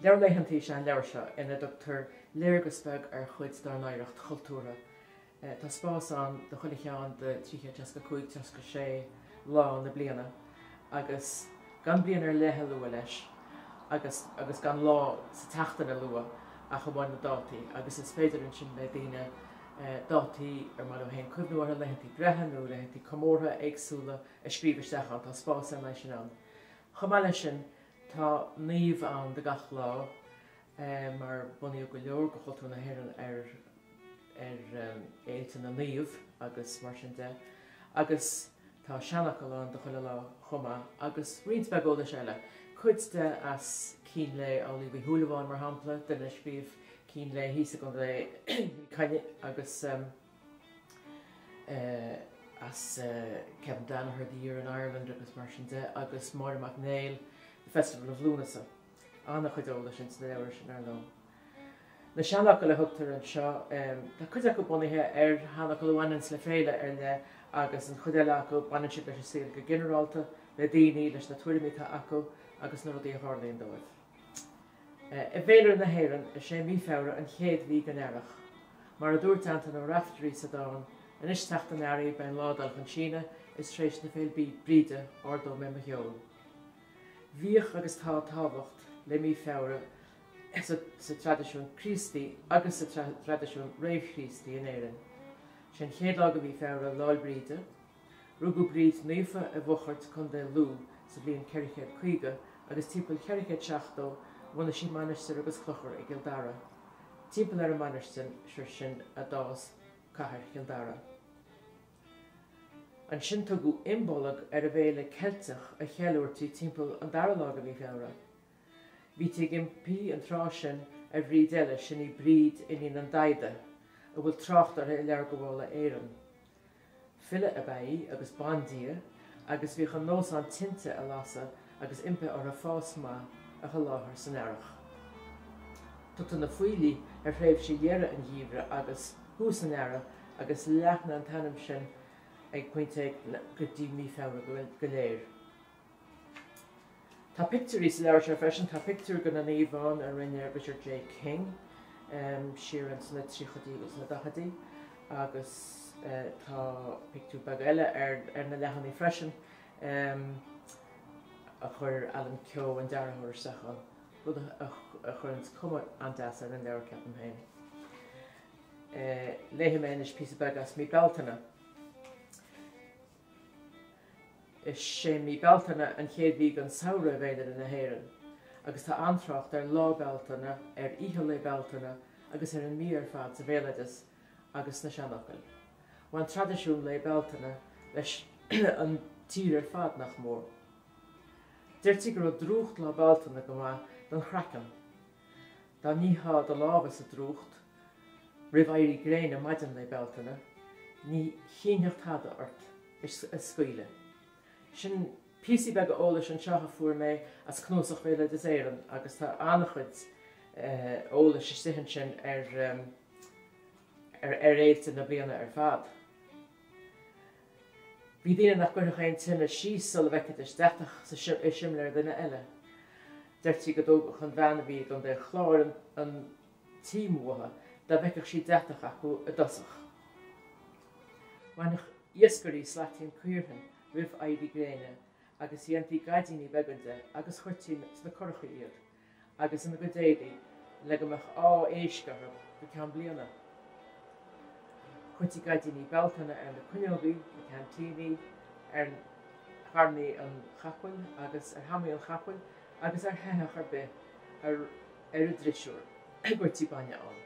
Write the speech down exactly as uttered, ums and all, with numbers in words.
Leabhar laethantaí is ea an leabhar seo ina dtugtar léargas beag ar chuid dár n-oidhreacht chultúrtha. Tá spás ann do chuile cheann de trí chéad seasca cúig, seasca sé lá na bliana agus gan bliain ar leith a lua leis agus agus gan lá sa tseachtain a lua ach amháin na dátaí agus is féidir ansin le daoine dátaí ar mhaith leo féin cuimhniú orthu, laethantaí breithe nó laethantaí comórtha éagsúla a scríobh isteach ann, tá spás ar leith sin ann. Chomh maith leis sin, tá naomh ann do gach lá mar bunaíodh go leor de chultúr na hÉireann ar ar fhéilte na naomh agus mar sin de agus tá seanfhocal ann do chuile lá chomh maith agus roinnt beag eolais eile. Cuid de as Cín Lae Amhlaoibh Uí Shúilleabháin mar shampla, duine a scríobh Cín Lae thíos i gContae Chill Chainnigh agus as Kevin Danaher, The Year in Ireland agus mar sin de agus Máire Mac Néill, The Festival of Lúnasa. An-chuid eolais ins na leabhair sin ar ndóigh. Na seanfhocail a thugtar anseo, tá cuid acu bunaithe ar sheanfhocail a bhaineanns le féile ar leith agus an chuid eile acu baineann siad leis an saol go ginearálta, le daoine, leis na tuairimí atá acu agus na rudaí a tharlaíonn dóibh. I bhféilire na hÉireann, is é mí Feabhra an chéad mhí den earrach. Mar a dúirt Antain Ó Raifteirí sa dán, Anois teacht an earraigh beidh an lá ag dul chun síneadh, is tar éis na Féil' Bríde ardóidh mé mo cheol. Bhíodh agus tá tábhacht le mí Feabhra sa traidisiún Críostaí agus sa traidisiún réamh-Chríostaí in Éirinn. Sé an chéad lá de mhí Feabhra Lá'l Bríde. Rugadh Bríd Naofa i bhFochairt, Contae Lú, sa bhliain ceithre chéad caoga agus timpeall ceithre chéad seachtó bhunaigh sí mainistir agus clochar i gCill Dara. Timpeall ar an mainistir sin a d'fhás cathair Chill Dara. Ansin tugadh Imbolg ar an bhféile Ceilteach a cheiliúrtaí timpeall an dara lá de mhí Feabhra. Bhítí ag impí an tráth sin ar Bhríd eile, sin í Bríd iníon an Daghda, a bhfuil trácht uirthi i Leabhar Gabhála Éireann. File ab ea í agus bandia agus bhíodh an nós ann tinte a lasadh agus impí orthu fás maith a sholáthar san earrach. Tugtar na Faoilligh ar thréimhse dheireadh an gheimhridh agus thús an earraigh agus leathnaigh an t-ainm sin ag pointe éigin go dtí mí Feabhra go léir. Tá pictiúirí sa leabhar seo freisin, tá pictiúr de na naoimh ann a rinne Richard J. King siar ins na tríochaidí agus na daichidí agus tá pictiúr beag eile ar ar na leathanaigh freisin a chuir Alan Keogh an dearthóir isteach ann, rud a chuireanns cuma an-deas ar an leabhar ceapaim féin. Léifidh mé anois píosa beag as mí Bealtaine. Is é mí Bealtaine an chéad mhí den samhradh i bhféilire na hÉireann agus tá an-trácht ar Lá Bealtaine, ar Oíche Lae Bealtaine agus ar an mí ar fad sa bhéaloideas agus sna seanfhocail. Bhain traidisiún Lae Bealtaine leis an tír ar fad, nach mór. Deirtí go raibh drúcht Lá Bealtaine go maith don chraiceann. Dá nítheá do lámha sa drúcht roimh éirí gréine maidin Lae Bealtaine, ní shínfeadh tada ort a scaoileadh. Sin píosaí beaga eolais anseo a fuair mé as Cnuasach Bhéaloideas Éireann agus tá an-chuid eolais istigh ansin ar ar fhéilte na bliana ar fad. Bhí daoine nach gcuirfeadh aon tine síos sula bhfeicfidís deatach i simléar duine eile. Deirtí go dtógfadh an bhean a bhí i gContae an Chláir an tím uathu dá bhfeicfeadh sí deatach acu i dtosach. Bhainfeadh iascairí slaitín caorthainn roimh éirí gréine agus dhéantaí gaidíní beaga de agus chuirtí sna curachaí iad agus ina gcuid éadaí le go mbeadh ádh éisc orthu go ceann bliana. Chuirtí gaidíní Bealtaine ar na cuinneogaí, na ceaintíní, ar thairní an chapaill agus ar hamaí an chapaill agus ar shoitheach ar bith ar a drisiúr a gcuirtí bainne ann.